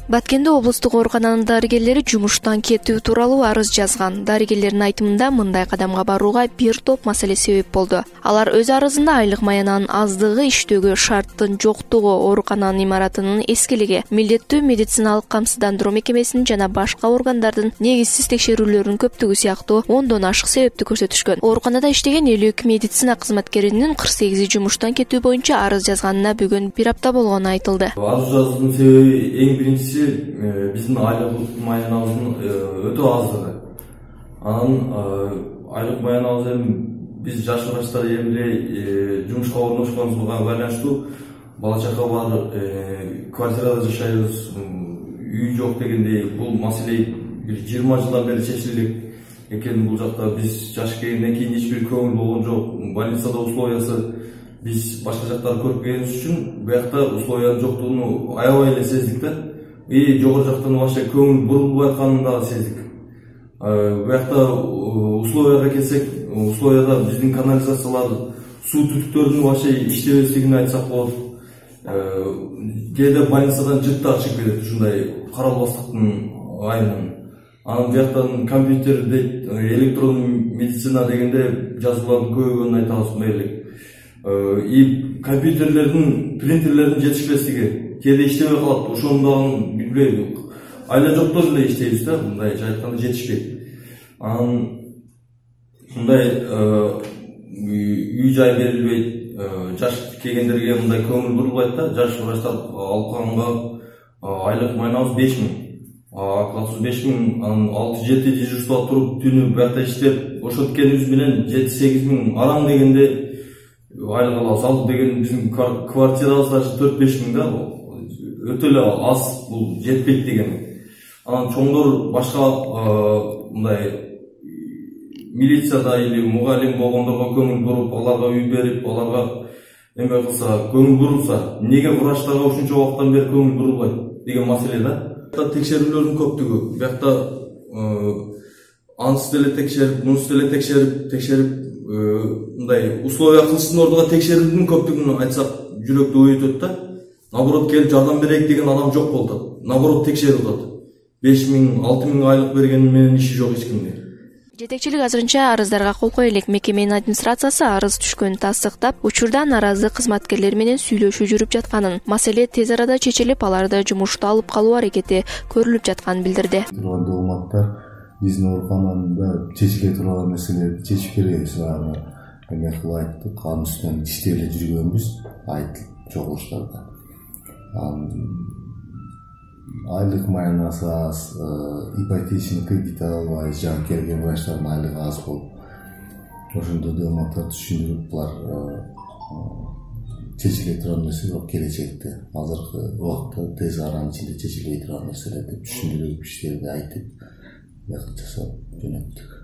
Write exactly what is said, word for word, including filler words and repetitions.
Баткенде облустук оорукананын дарыгерлери жумуштан кетүү тууралуу арыз жазган. Дарыгерлердин айтымында мындай кадамга барууга бир топ маселе себеп болду. Алар өз арызында айлык маянанын аздыгы, иштөөгө шарттын жоктугу, оорукананын имаратынын эскилиги, милдеттүү медициналык камсыздандыруу мекемесинин жана башка органдардын негизсиз текшерүүлөрүнүн көптүгү сыяктуу ондон ашык себепти көрсөтүшкөн. Ооруканада иштеген элүү эки медицина кызматкеринин кырк сегизи жумуштан кетүү боюнча арыз жазганына бүгүн бир апта болгону айтылды. Арыз жазуунун себеби эң биринчиси биздин айлык маянабыздын өтө аздыгы. Анан айлык маянабыз эми биз жаш врачтар эмне жумушка орношконубузга байланыштуу бала чака бар, квартирада жашайбыз, үй жок дегендей бул маселе бир жыйырма жылдан бери чечиле экен. Бул жакта биз жаш келгенден кийин эч бир көңүл болгон жок. Больницада условиясы биз башка жактарды көрүп келгенибиз үчүн буякта условиянын жоктугун аябай эле сездик да. И жогору жактан вообще көңүл бурулбай атканын дагы сездик. Буякта условияга келсек, условияда биздин канализациялар, суу түтүктөрүнүн вообще иштебестигин айтсак болот. Кээде больницадан жыттар чыгып кетет ушундай каралбастыктын айынан. Анан бияктан компьютерде электрондук медицина дегенде жазуулардын көбөйгөнүн айтабыз мээрлик. И компьютерлердин, принтерлердин жетишпестиги кээде иштебей калат. Ошону дагы билбейм. Айла жоктор эле иштейбиз да, мындай айтканда жетишпейт. Анан мындай үй жай берилбейт. Жаш келгендерге мындай көңүл бурулбайт да. Жаш врачтар алып калганга айлык маянабыз беш миң. отуз беш миң, анан алты жети дежурство туруп түнү буякта иштеп, ошенткенибиз менен жети сегиз миң араң дегенде айлык алабыз. Ал деген биздин квартирабыз даже төрт беш миң да. Өтө эле аз, бул жетпейт деген. Анан чоңдор башка мындай милицияда или мугалим болгондорго көңүл буруп, аларга үй берип, аларга эме кылса, көңүл бурулса, эмнеге врачтарга ушунча убакыттан бери көңүл бурулбайт деген маселе да. Текшерүүлөрдүн көптүгү, буякта анысы деле текшерип, мунусу деле текшерип, текшерип мындай условия кылыштын ордуна текшерүүнүн көптүгүн айтсак жүрөктү өйүтөт да. Наоборот келип жардам берейик деген адам жок болот. Наоборот текшерип атат. беш миң, алты миң айлык бергени менен иши жок эч кимде. Жетекчилик азырынча арыздарга кол кое элек. Мекеменин администрациясы арыз түшкөнүн тастыктап, учурда наразы кызматкерлер менен сүйлөшүү жүрүп жатканын, маселе тез арада чечилип, аларды жумуштан алып калуу аракети көрүлүп жатканын билдирди. Маалыматтар биздин ооруканада чечиле турган нерселерди чечип беребиз. Эме кылып айттык, анын үстүнөн иштеп эле жүргөнбүз, айтылып чогулуштарда. Айлык маянасы аз, ипотечный кредит албай жаңы келген врачтардын айлыгы аз болуп, ошондо маалыматтарды түшүндүрүп, булар чечиле турган нерсе жок келечекте. Азыркы убакытта тез аранын ичинде чечилбей турган нерселер деп түшүндүрүп иштерди айтып, жасап жөнөттүк.